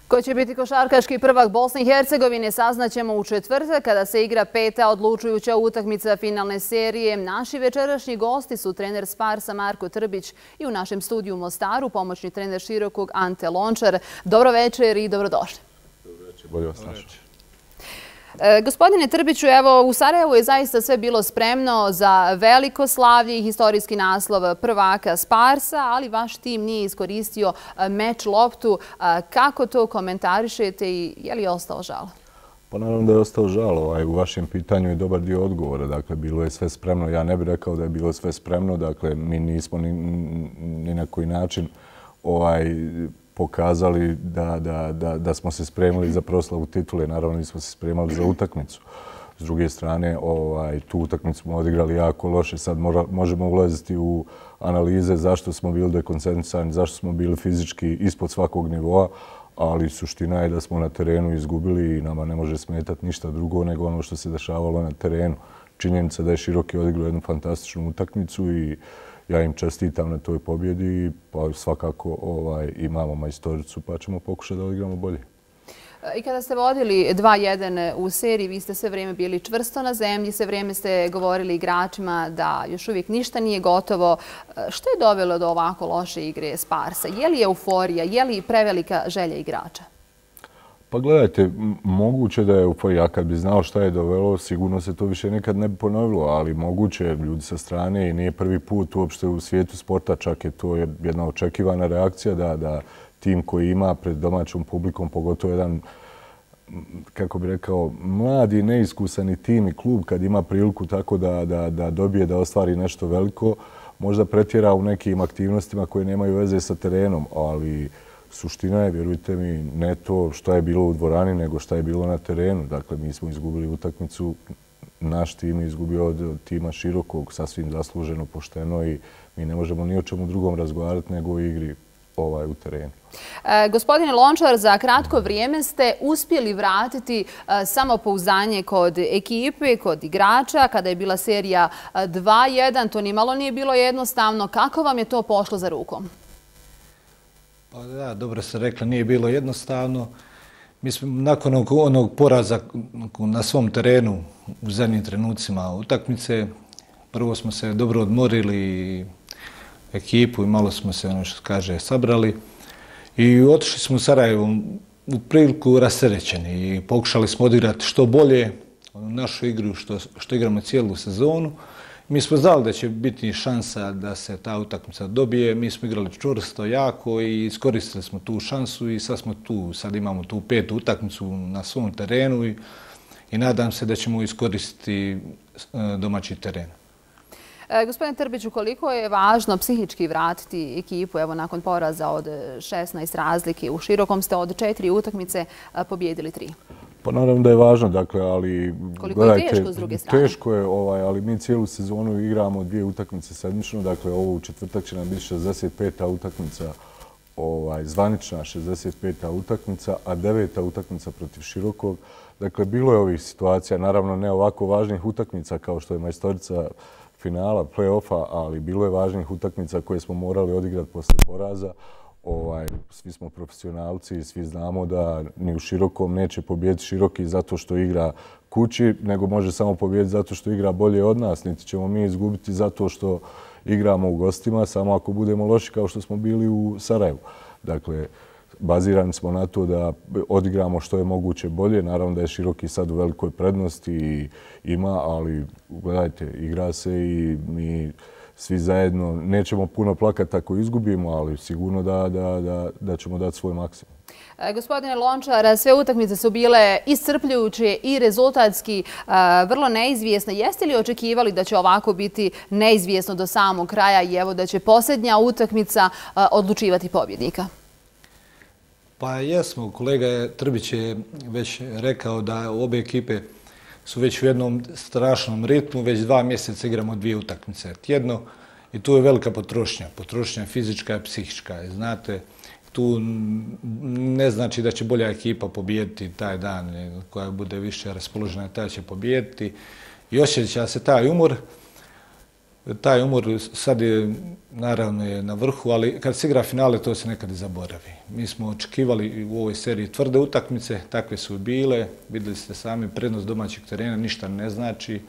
Ko će biti košarkaški prvak Bosne i Hercegovine saznaćemo u četvrtak kada se igra peta odlučujuća utakmica finalne serije. Naši večerašnji gosti su trener Sparsa Marko Trbić i u našem studiju u Mostaru pomoćni trener Širokog Ante Lončar. Dobro večer i dobrodošli. Dobro večer, bolje vas našli. Gospodine Trbiću, evo u Sarajevu je zaista sve bilo spremno za veliko slavlje i historijski naslov prvaka Sparsa, ali vaš tim nije iskoristio meč loptu. Kako to komentarišete i je li ostao žal? Pa naravno da je ostao žal. U vašem pitanju je dobar dio odgovora. Dakle, bilo je sve spremno. Ja ne bih rekao da je bilo sve spremno. Dakle, mi nismo ni na koji način pokazali da smo se spremili za proslavu titule. Naravno, nismo se spremali za utakmicu. S druge strane, tu utakmicu smo odigrali jako loše. Sad možemo ulaziti u analize zašto smo bili dekoncentrisani, zašto smo bili fizički ispod svakog nivoa, ali suština je da smo na terenu izgubili i nama ne može smetati ništa drugo nego ono što se dešavalo na terenu. Činjenica da je Široki odigrao jednu fantastičnu utakmicu i ja im čestitam na toj pobjedi, pa svakako imamo majstoricu pa ćemo pokušati da odigramo bolje. I kada ste vodili 2-1 u seriji, vi ste sve vrijeme bili čvrsto na zemlji, sve vrijeme ste govorili igračima da još uvijek ništa nije gotovo. Što je dovelo do ovako loše igre Sparsa? Je li euforija, je li prevelika želja igrača? Pa gledajte, moguće da je euforija. Ja kad bi znao šta je dovelo, sigurno se to više nikad ne bi ponovilo, ali moguće ljudi sa strane i nije prvi put uopšte u svijetu sporta, čak je to jedna očekivana reakcija da tim koji ima pred domaćom publikom, pogotovo jedan, kako bi rekao, mladi, neiskusani tim i klub kad ima priliku tako da dobije, da ostvari nešto veliko, možda pretjera u nekim aktivnostima koje nemaju veze sa terenom, ali suština je, vjerujte mi, ne to što je bilo u dvorani, nego što je bilo na terenu. Dakle, mi smo izgubili utakmicu, naš tim je izgubio od tima Širokog, sasvim zasluženo, pošteno i mi ne možemo ni o čemu drugom razgovarati nego o igri u terenu. Gospodine Lončar, za kratko vrijeme ste uspjeli vratiti samopouzdanje kod ekipe, kod igrača, kada je bila serija 2-1. To nimalo nije bilo jednostavno. Kako vam je to pošlo za rukom? Pa da, dobro ste rekli, nije bilo jednostavno. Mi smo nakon onog poraza na svom terenu u zadnjim trenucima utakmice, prvo smo se dobro odmorili ekipu i malo smo se, ono što kaže, sabrali i otišli smo u Sarajevo u priliku rasterećeni i pokušali smo odigrati što bolje našu igru što igramo cijelu sezonu. Mi smo znali da će biti šansa da se ta utakmica dobije. Mi smo igrali čvrsto, jako i iskoristili smo tu šansu i sad smo tu. Sad imamo tu petu utakmicu na svom terenu i nadam se da ćemo iskoristiti domaći teren. Gospodine Trbiću, koliko je važno psihički vratiti ekipu evo nakon poraza od 16 razlike? U Širokom ste od 4 utakmice pobijedili 3. Pa naravno da je važno, dakle, ali koliko je teško s druge strane? Teško je, ali mi cijelu sezonu igramo 2 utakmice sedmično, dakle ovo u četvrtak će nam biti 65. utakmica, zvanična 65. utakmica, a 9. utakmica protiv Širokog. Dakle, bilo je ovih situacija, naravno ne ovako važnih utakmica kao što je majstorica finala, play-offa, ali bilo je važnih utakmica koje smo morali odigrati poslije poraza. Svi smo profesionalci i svi znamo da ni u Širokom neće pobijediti Široki zato što igra kući, nego može samo pobijediti zato što igra bolje od nas. Niti ćemo mi izgubiti zato što igramo u gostima, samo ako budemo loši kao što smo bili u Sarajevu. Dakle, bazirani smo na to da odigramo što je moguće bolje. Naravno da je Široki sad u velikoj prednosti i ima, ali gledajte, igra se i mi svi zajedno nećemo puno plakati ako izgubimo, ali sigurno da ćemo dati svoj maksimum. Gospodine Lončar, sve utakmice su bile iscrpljujuće i rezultatski vrlo neizvjesne. Jeste li očekivali da će ovako biti neizvjesno do samog kraja i evo da će posljednja utakmica odlučivati pobjednika? Pa jesmo, kolega Trbić je već rekao da obe ekipe su već u jednom strašnom ritmu, već 2 mjeseca igramo 2 utakmice tjedno i tu je velika potrošnja. Potrošnja fizička i psihička. Znate, tu ne znači da će bolja ekipa pobijediti taj dan, koja bude više raspoložena, ta će pobijediti i osjeća se taj umor. Taj umor sad je naravno je na vrhu, ali kad se igra finale to se nekad i zaboravi. Mi smo očekivali u ovoj seriji tvrde utakmice, takve su bile, vidjeli ste sami prednost domaćeg terena, ništa ne znači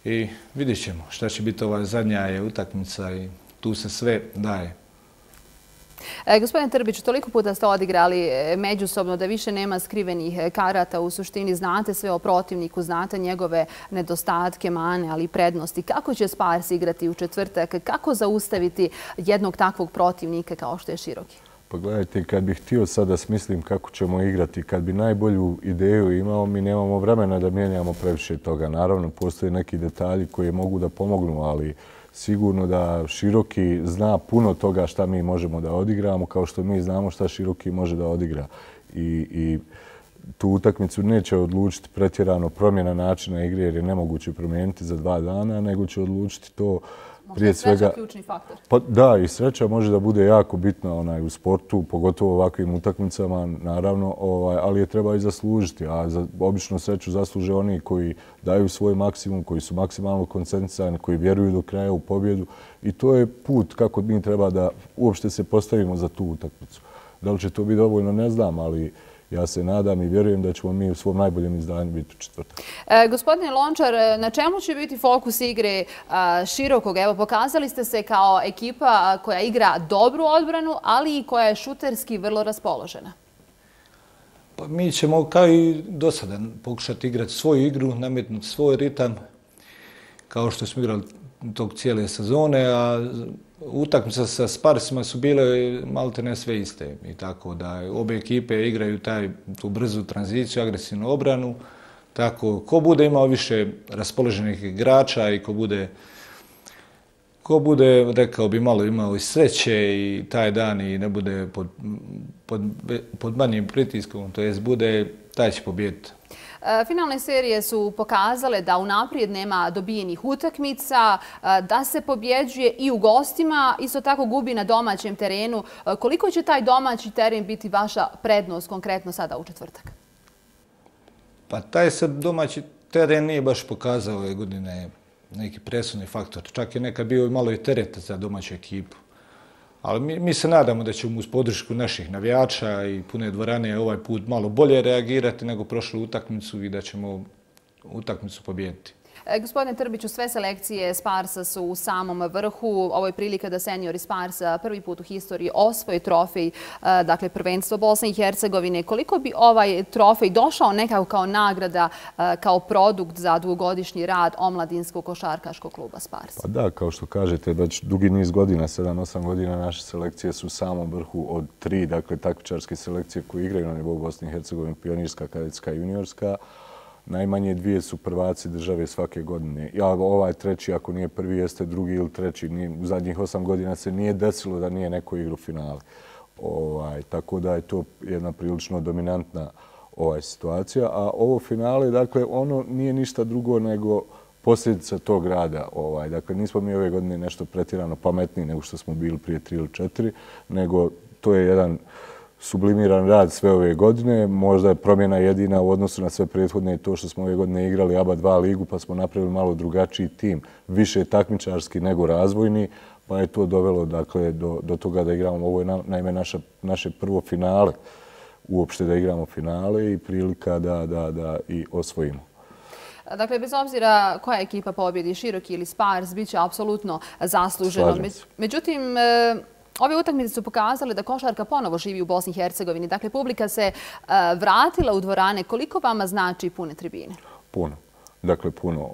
i vidjet ćemo šta će biti ova zadnja je utakmica i tu se sve daje. Gospodine Trbiću, toliko puta ste odigrali međusobno da više nema skrivenih karata. U suštini znate sve o protivniku, znate njegove nedostatke, mane, ali i prednosti. Kako će Spars igrati u četvrtak? Kako zaustaviti jednog takvog protivnika kao što je Široki? Pa gledajte, kad bih htio sad da smislim kako ćemo igrati, kad bi najbolju ideju imao, mi nemamo vremena da mijenjamo previše toga. Naravno, postoje neki detalji koji mogu da pomognu, ali sigurno da Široki zna puno toga šta mi možemo da odigramo, kao što mi znamo šta Široki može da odigra. I tu utakmicu neće odlučiti pretjerano promjena načina igre, jer je nemoguće promijeniti za 2 dana, nego će odlučiti to prije svega... Možda je sreća ključni faktor. Pa da, i sreća može da bude jako bitna u sportu, pogotovo u ovakvim utakmicama, naravno, ali je treba i zaslužiti. A obično sreću zasluže oni koji daju svoj maksimum, koji su maksimalno koncentrisani, koji vjeruju do kraja u pobjedu. I to je put kako mi treba da uopšte se postavimo za tu utakmicu. Da li će to biti dovoljno, ne znam, ali ja se nadam i vjerujem da ćemo mi u svom najboljem izdanju biti u četvrtak. Gospodine Lončar, na čemu će biti fokus igre Širokog? Evo, pokazali ste se kao ekipa koja igra dobru odbranu, ali i koja je šuterski vrlo raspoložena. Pa mi ćemo kao i do sada pokušati igrati svoju igru, nametnuti svoj ritam, kao što smo igrali tog cijele sezone, a utakmice sa Sparsima su bile maltene sve iste. I tako da obje ekipe igraju tu brzu tranziciju, agresivnu obranu. Tako, ko bude imao više raspoloženih igrača i ko bude, rekao bi, malo imao i sreće i taj dan i ne bude pod manjim pritiskom, to jest bude, taj će pobijediti. Finalne serije su pokazale da unaprijed nema dobijenih utakmica, da se pobjeđuje i u gostima, isto tako gubi na domaćem terenu. Koliko će taj domaći teren biti vaša prednost konkretno sada u četvrtak? Pa taj se domaći teren nije baš pokazao ove godine neki presudni faktor. Čak je nekad bio malo i teret za domaću ekipu. Ali mi se nadamo da ćemo uz podršku naših navijača i pune dvorane ovaj put malo bolje reagirati nego prošlu utakmicu i da ćemo utakmicu pobijediti. Gospodine Trbiću, sve selekcije Sparsa su u samom vrhu. Ovo je prilika da seniori Sparsa prvi put u historiji osvoje trofej, dakle prvenstvo Bosne i Hercegovine. Koliko bi ovaj trofej došao nekako kao nagrada, kao produkt za dugogodišnji rad omladinskog košarkaškog kluba Spars? Pa da, kao što kažete, već dugi niz godina, 7-8 godina, naše selekcije su u samom vrhu od 3, dakle takmičarske selekcije koje igraju na nivou Bosne i Hercegovine, pionirska, kadetska i juniorska. Najmanje 2 su prvaci države svake godine. Ovaj treći, ako nije prvi, jeste drugi ili treći. U zadnjih 8 godina se nije desilo da nije neko igru finale. Tako da je to jedna prilično dominantna situacija. A ovo finale, dakle, ono nije ništa drugo nego posljedica tog rada. Dakle, nismo mi ove godine nešto pretjerano pametniji nego što smo bili prije 3 ili 4, nego to je jedan sublimiran rad sve ove godine. Možda je promjena jedina u odnosu na sve prethodne i to što smo ove godine igrali ABA 2 ligu pa smo napravili malo drugačiji tim, više takmičarski nego razvojni, pa je to dovelo dakle, do toga da igramo. Ovo je naime naše prvo finale, uopšte da igramo finale i prilika da i osvojimo. Dakle, bez obzira koja ekipa pobjedi, Široki ili Spars, bit će apsolutno zasluženo. Međutim, ove utakmice su pokazale da košarka ponovo živi u Bosni i Hercegovini. Dakle, publika se vratila u dvorane. Koliko vama znači pune tribine? Puno. Dakle, puno.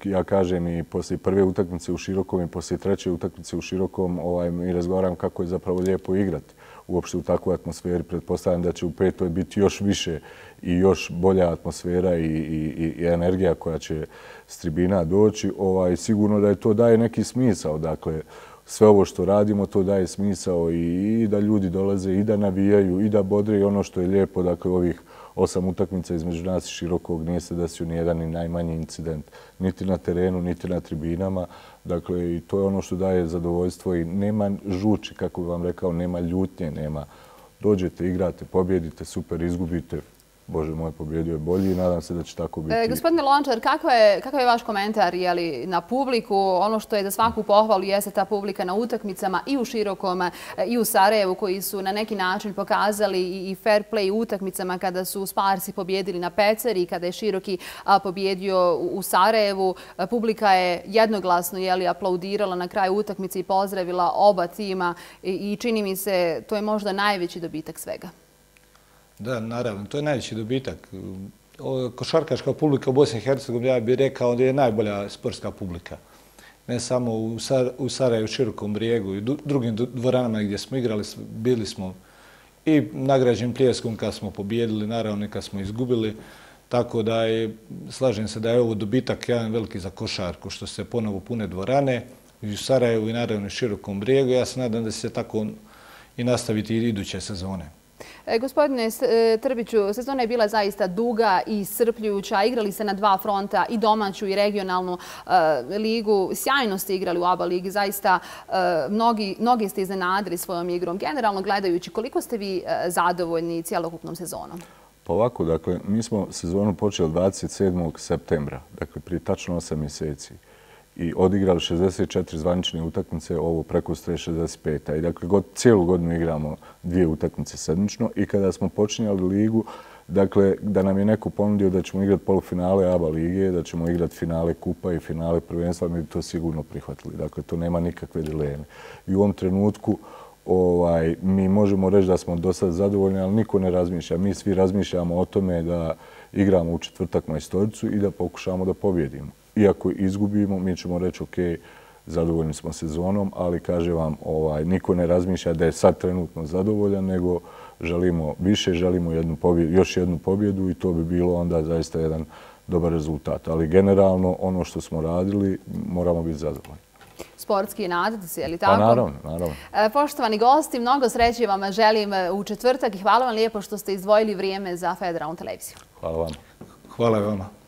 Ja kažem i poslije prve utakmice u Širokom i poslije treće utakmice u Širokom mi razgovaram kako je zapravo lijepo igrati. Uopšte u takvoj atmosferi pretpostavljam da će u petoj biti još više i još bolja atmosfera i energija koja će s tribina doći. Sigurno da to daje neki smisao. Dakle, sve ovo što radimo, to daje smisao i da ljudi dolaze i da navijaju i da bodre i ono što je lijepo, dakle ovih 8 utakmica između nas i Širokog nije se desio ni jedan ni najmanji incident, niti na terenu, niti na tribinama. Dakle, i to je ono što daje zadovoljstvo i nema žuči, kako bih vam rekao, nema ljutnje, nema. Dođete, igrate, pobjedite, super, izgubite, Bože moj, pobjedio je bolji i nadam se da će tako biti. Gospodine Lončar, kakav je vaš komentar na publiku? Ono što je za svaku pohvalu jeste ta publika na utakmicama i u Širokom i u Sarajevu, koji su na neki način pokazali i fair play u utakmicama kada su Sparsi pobjedili na Peceri i kada je Široki pobjedio u Sarajevu. Publika je jednoglasno aplaudirala na kraju utakmice i pozdravila oba tima i čini mi se to je možda najveći dobitak svega. Da, naravno, to je najveći dobitak. Košarkaška publika u Bosni i Hercegovini, ja bih rekao da je najbolja sportska publika. Ne samo u Sarajevu, Širokom Brijegu i drugim dvoranama gdje smo igrali, bili smo i nagrađeni pljeskom kad smo pobjedili, naravno i kad smo izgubili. Tako da slažem se da je ovo dobitak jedan veliki za košarku, što se ponovo pune dvorane i u Sarajevu i naravno u Širokom Brijegu. Ja se nadam da će se tako i nastaviti i iduće sezone. Gospodine Trbiću, sezona je bila zaista duga i iscrpljujuća. Igrali se na dva fronta, i domaću i regionalnu ligu. Sjajno ste igrali u ABA ligi. Zaista mnogi ste iznenadili svojom igrom. Generalno gledajući, koliko ste vi zadovoljni cijelokupnom sezonom? Pa ovako, dakle, mi smo sezonu počeli 27. septembra, dakle prije tačno 8 mjeseci. I odigrali 64 zvanične utakmice, ovo preko 65. I dakle, cijelu godinu igramo 2 utakmice sedmično. I kada smo počinjali ligu, dakle, da nam je neko ponudio da ćemo igrati polufinale ABA lige, da ćemo igrati finale kupa i finale prvenstva, mi bi to sigurno prihvatili. Dakle, to nema nikakve dileme. I u ovom trenutku mi možemo reći da smo do sada zadovoljni, ali niko ne razmišlja. Mi svi razmišljamo o tome da igramo u četvrtak majstoricu i da pokušamo da pobjedimo. Iako izgubimo, mi ćemo reći ok, zadovoljni smo sezonom, ali kažem vam, niko ne razmišlja da je sad trenutno zadovoljan, nego želimo više, želimo još jednu pobjedu i to bi bilo onda zaista jedan dobar rezultat. Ali generalno ono što smo radili moramo biti zadovoljni. Sportski nadate se, je li tako? Pa naravno, naravno. Poštovani gosti, mnogo sreće vam želim u četvrtak i hvala vam lijepo što ste izdvojili vrijeme za Federalnu televiziju. Hvala vam. Hvala vam.